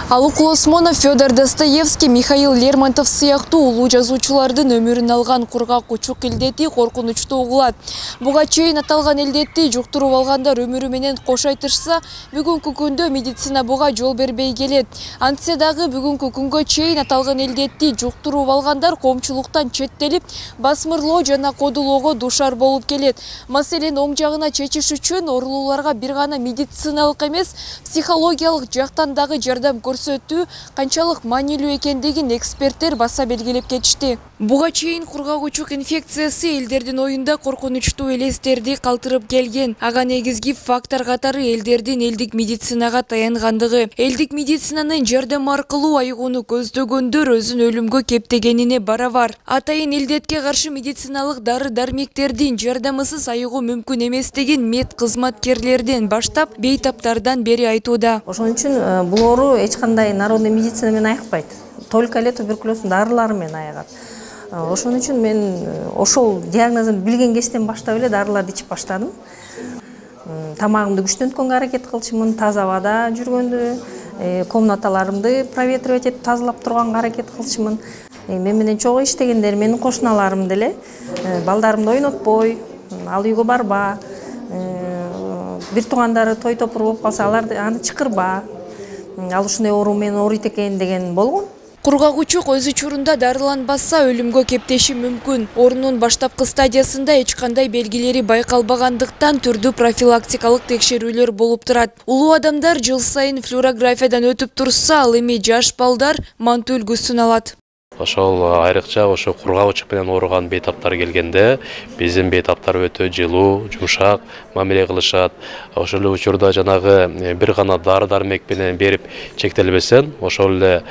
Алуклы Осмонов, Федор Достоевский, Михаил Лермонтов сыяктуу улуу жазуучулардын өмүрүн алган кургак учук илдети коркунучтуу угулат. Буга чейин аталган илдетти жуктуруп алгандар өмүрү менен кош айтышса, бүгүнкү күндө медицина буга жол бербей келет. Антсе дагы бүгүнкү күнгө чейин аталган илдетти жуктуруп алгандар коомчулуктан четтелип, басмырлоо жана кодулоого душар болуп келет. Маселени оң жагына чечиш үчүн оорулууларга бир гана медициналык эмес, психологиялык жактан дагы жардам көрсөтүү канчалык маанилүү экендигин эксперттер баса белгилеп кетишти. Буга чейин кургак учук инфекциясы элдердин оюнда коркунучтуу элестерди калтырып келген. Ага негизги фактор катары элдердин элдик медицинага таянгандыгы. Элдик медицинанын жардамы аркылуу айыгууну көздөгөндөр өзүн өлүмгө кептегенине барабар. Атайын илдетке каршы медициналык дары-дармектердин жардамысыз айыгуу мүмкүн эместигин мед кызматкерлерден баштап бейтаптардан бери айтууда. Ошон үчүн бул оору эч кандай народный медицина менен айыкпайт. Только эле туберкулездин дарылары менен айыгат. Ошон үчүн мен ошол диагнозун билген кезден баштап эле дарыларды ичип баштадым. Тамагымды күчтөнткөнгө аракет кылчумун, таза абада жүргөндү, комнаталарымды проветривать этип тазалап турганга аракет кылчумун. Мен менен чогуу иштегендер, менин кошуналарым деле балдарымды ойнотпой, ал үйгө барба, бир туугандары той топур болуп калса аларды аны чакырба, ал ушундай оору менен ооруйт экен деген болгон. Кургак учук өз учурунда дарыланбаса өлүмгө кептеши мүмкүн. Оорунун баштапкы стадиясында эч кандай белгилери байкалбагандыктан түрдүү профилактикалык текшерүүлөр болуп турат. Улуу адамдар жыл сайын флюорографиядан өтүп турса, ал эми жаш балдар манту үлгүсүн алат. Ошол айрыкча ошо кургак учук менен ооруган бейтаптар келгенде биздин бейтаптар өтө жылуу, жумшак мамиле кылышат. Ошол эле учурда жанагы бир гана дары-дармек менен берип чектелбесен, ошол эле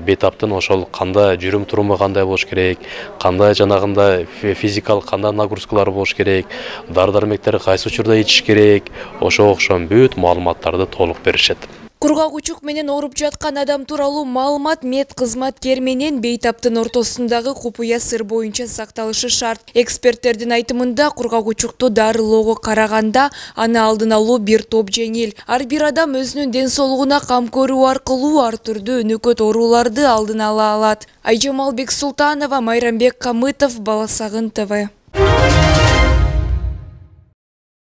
бейтаптын ошол кандай жүрүм туруму кандай болуш керек, кандай жанагында физикалык кандай нагрузкалар болуш керек, дары-дармектерди кайсы учурда ичиш керек, ошого окшогон бүт маалыматтарды толук беришет. Кургак учук менен ооруп жаткан адам тууралуу маалымат мед кызматкер менен бейтаптын ортосундагы купуя сыр боюнча сакталышы шарт. Эксперттердин айтымында кургак учукту дарылоого караганда аны алдын алуу бир топ жеңил. Ар бир адам өзүнүн ден соолугуна кам көрүү аркылуу ар түрдүү өнөкөт ооруларды алдын ала алат. Айжамал Бексултанова, Майрамбек Камытов, Бала Сагын ТВ.